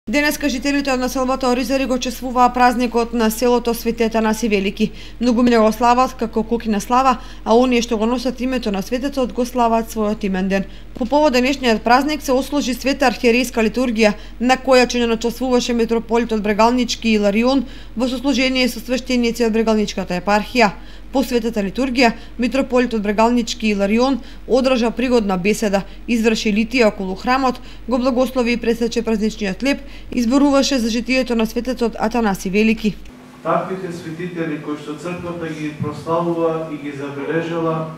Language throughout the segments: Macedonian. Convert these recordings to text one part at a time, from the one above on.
Денеска жителите од населбата Оризари го чествуваа празникот на селото Свети Атанаси Велики. Многумина го слават како кукина слава, а оние што го носат името на светецот го слават својот имен ден. По повод денешниот празник се осложи света архиерейска литургија, на која чинено чествуваше митрополитот Брегалнички Иларион во сослужение со свештеници од Брегалничката епархија. По светата литургија, митрополитот Брегалнички Иларион одржа пригодна беседа, изврши литија околу храмот, го благослови и пресече празничниот леп, изборуваше за житието на светецот Атанаси Велики. Таквите светители кои што црквата ги прославува и ги забележала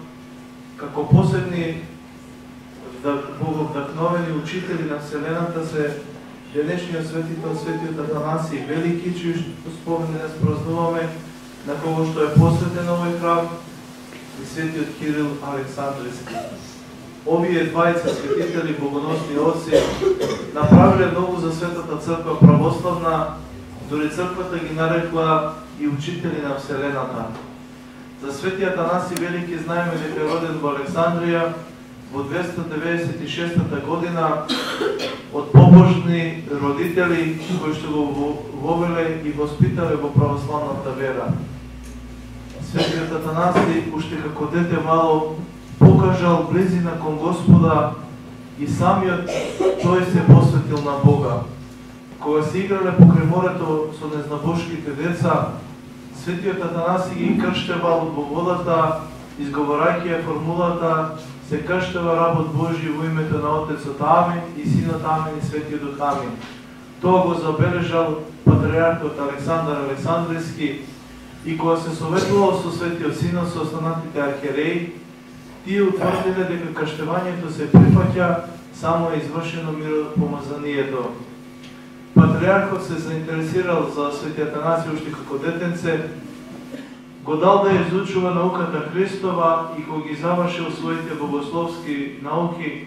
како посебни боговдахновени учители на вселената се денешниот светител светиот Атанаси Велики, чиј спомен празнуваме, на кого што е посветен овој храм, и светиот Кирил Александрийски. Овие двајца светители, богоносни отци, направиле многу за светата црква православна, дори црквата ги нарекла и учители на вселената. За свети Атанаси Велики знаеме дека е роден во Александрија во 296 година од побожни родители кои што го вовеле и воспитале во православната вера. Светиот Атанаси уште како дете мало покажал близина кон Господа и самиот тој се посветил на Бога. Кога се играле покрај морето со незнабошките деца, светиот Атанаси ги крштевал во водата, изговорајќи ја формулата се крштева работ Божи во името на Отецот Амин и Синот Амин и Светиот Дух Амин. Тоа го забележал патриархот Александар Александрийски и кога се советувал со Светиот Синот со останатите архиереи, тие утврдиле дека крштевањето се прифаќа само е извршено миропомазанието. Патриархот се заинтересирал за Свети Атанаси уште како детенце, го дал да изучува науката Христова и кога ги завршил своите богословски науки,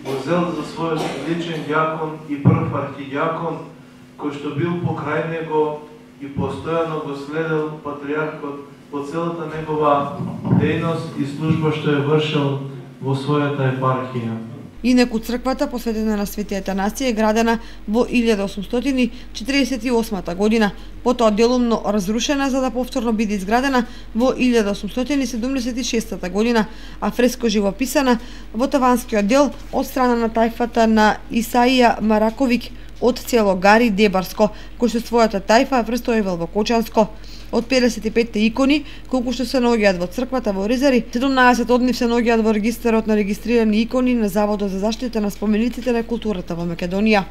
го зел за својот личен дјакон и прв архидјакон, кој што бил покрај него и постојано го следел патриархот по целата негова дејност и служба што е вршил во својата епархија. Инаку црквата посветена на Свети Атанаси е градена во 1848 година, потоа делумно разрушена за да повторно биде изградена во 1876 година, а фреско живописана во таванскиот дел од страна на тајфата на Исаија Мараковик од село Гари Дебарско, кој што својата тајфа престојувал во Кочанско. Од 55 икони, колку што се наоѓаат во црквата во Оризари, 17 од нив се наоѓаат во регистарот на регистрирани икони на Заводот за заштита на спомениците на културата во Македонија.